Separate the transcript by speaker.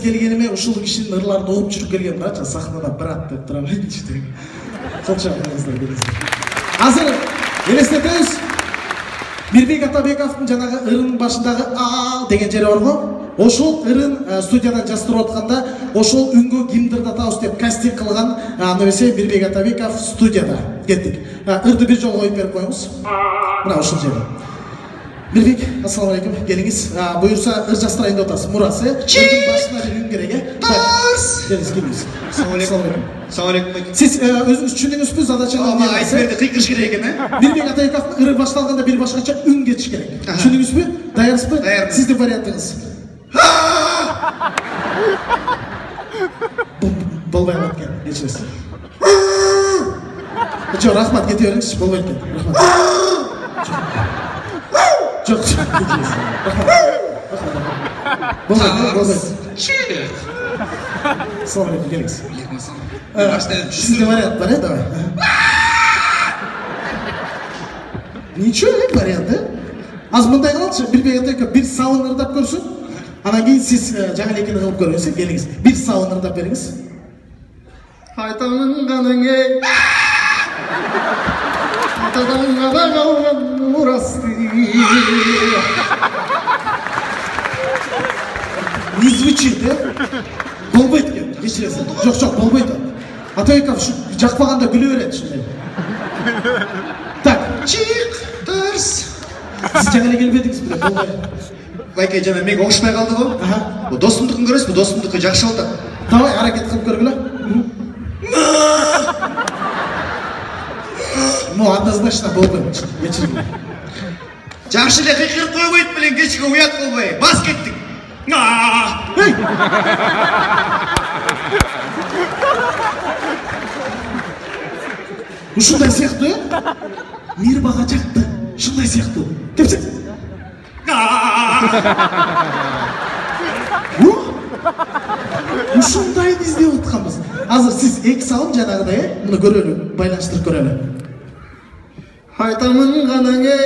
Speaker 1: келгениме ушул кишинин ырларын угуп жүрүп келгем дачы, сахнада брат деп тура берчи. Солча келиңиздер. Азыр элестетебиз. Мирбек Атабековдун жанагы ырынын башындагы а деген жери бар го. Ошол ырын студиядан жаздырып атканда ошол үнгө кимди ырдатабыз деп кастинг кылган аныбесе Мирбек Атабеков студияда кеттик. Ырды бир жолу коюп берип коюңуз. Мына ошол жерде. Мирбек, ассаламу алейкум, келиңиз. Буюрса ыр жастырайын деп атасыз. Мурасы ырдын башына бир үн керек, Келиңиз. Ассаламу алейкум.
Speaker 2: Ассаламу алейкум.
Speaker 1: Сиз өзүңүз түшүндүңүзбү задачаны?
Speaker 2: Айтып берди, кыйкырыш керек экен,
Speaker 1: Мирбек Атабековдун ыры башталганда бир башкача үн кетиш керек. Түшүндүңүзбү? Даярсызбы?
Speaker 2: Даярмын.
Speaker 1: Сиздин вариантыңыз. Болбой калат экен, кечиресиз. Жок, рахмат, кете бериңизчи, болбойт экен. Рахмат. Жок, кечиресиз. Болбойт. Ассаламу алейкум, келиңиз. Сизде вариант бар, давай. Ничего, вариант, Азыр мындай кылалычы, Мирбек Атабеков бир сабын ырдап көрсүн. Анан кийин сиз жаңы элекени кылып көрүңүз, келиңиз. Бир сабын ырдап бериңиз. Айтамын каныңе. Айтамын да калган мурасты. Не звучит, Болбойт экен, кечиресиз. Жок, болбойт. Атабеков жакпаганда күлө берет ушундай. Так, чик, тарс. Сиз жаңы эле келбедиңиз беле, болбой.
Speaker 2: Байке жана мега окшобой калды го. Бу досумдукун көрөсүзбү? Досумдуку жакшы болду.
Speaker 1: Давай аракет кылып көргүлө. Ну, однозначно болбойт. Кечирим.
Speaker 2: Жакшы эле кыйкырып койбойт белең, кечке уят болбой. Бас кеттик.
Speaker 1: Ушундай сыяктуу, Мир бага жакты. Ушундай сыяктуу. Депсиз. Ушундайды издеп атканбыз. Азыр сиз эки сабын жанагыдай, муну көрөлү, байланыштырып көрөлү. Айтамын канаңе.